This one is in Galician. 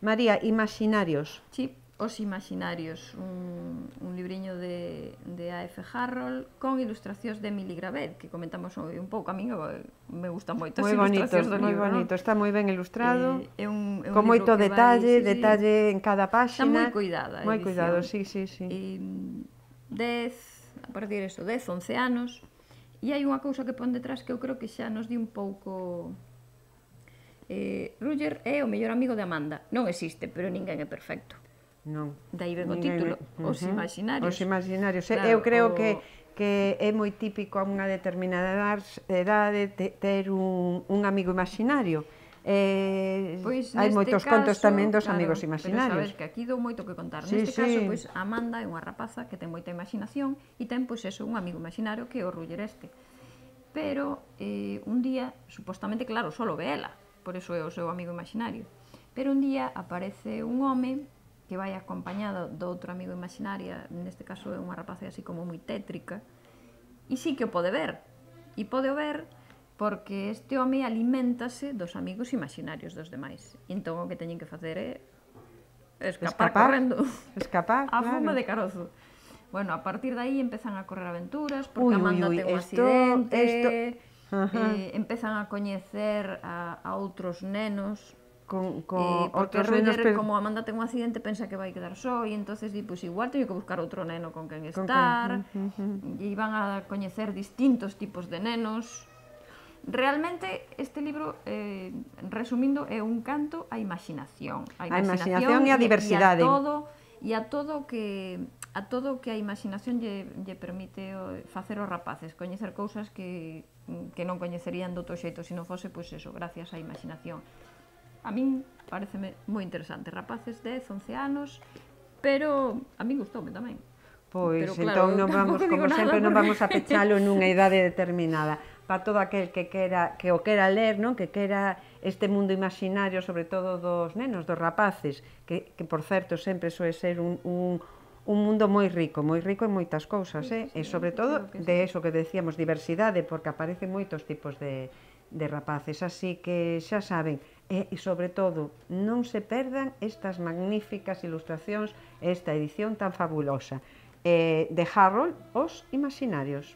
María, imaginarios. Sí, Os Imaginarios, un libriño de A.F. Harrold con ilustracións de Emily Gravel, que comentamos un pouco. A min me gustan moito as ilustracións do libro. Moi bonito, está moi ben ilustrado, con libro moito que detalle, vai, detalle en cada está moi páxina. cuidada a Moi cuidado, edición. sí. 10, a partir de 10, 11 anos, e hai unha cousa que pon detrás que eu creo que xa nos di un pouco... Roger é o mellor amigo de Amanda. Non existe, pero ninguén é perfecto. Non. Daí ven o título, Os Imaginarios. Os Imaginarios. Claro, eu creo que é moi típico a unha determinada edade ter un amigo imaginario. Pois hai moitos contos tamén dos claro, amigos Pero imaginarios. sabes que aquí dou moito que contar. Sí, Neste caso, pois, Amanda é unha rapaza que ten moita imaginación e ten, pois, eso, un amigo imaginario que é o Roger este. Pero un día, supostamente, claro, solo ve ela, por eso é o seu amigo imaginario. Pero un día aparece un home que vai acompañado do outro amigo imaginario, neste caso é unha rapaza así como moi tétrica, e sí que o pode ver. E pode o ver porque este home aliméntase dos amigos imaginarios dos demais. E entón o que teñen que facer é escapar correndo. Escapar, a claro. fuma de carozo. Bueno, a partir de aí empezan a correr aventuras, porque Amanda ten un accidente, empezan a coñecer a outros nenos, porque Roger, como Amanda ten un accidente, pensa que vai quedar só, e entonces di, pois igual teño que buscar outro neno con quen estar, e van a coñecer distintos tipos de nenos. Realmente, este libro, resumindo, é un canto á imaginación. A imaginación e a diversidade. E a todo que a imaginación lle permite facer os rapaces, coñecer cousas que non coñecerían de outro xeito se non fose, pois eso, gracias á imaginación. A min pareceme moi interesante. Rapaces 10, 11 anos, pero a min gustoume tamén. Pois, pero, claro, entón, non vamos, como sempre, non vamos a pechalo nunha idade determinada. Para todo aquel que o quera ler, non? Que quera este mundo imaginario, sobre todo dos nenos, dos rapaces, que por certo, sempre soe ser un mundo moi rico en moitas cousas, e sobre todo de eso que decíamos, diversidade, porque aparecen moitos tipos de rapaces, así que xa saben, e sobre todo non se perdan estas magníficas ilustracións, esta edición tan fabulosa de Harrold, Os Imaginarios.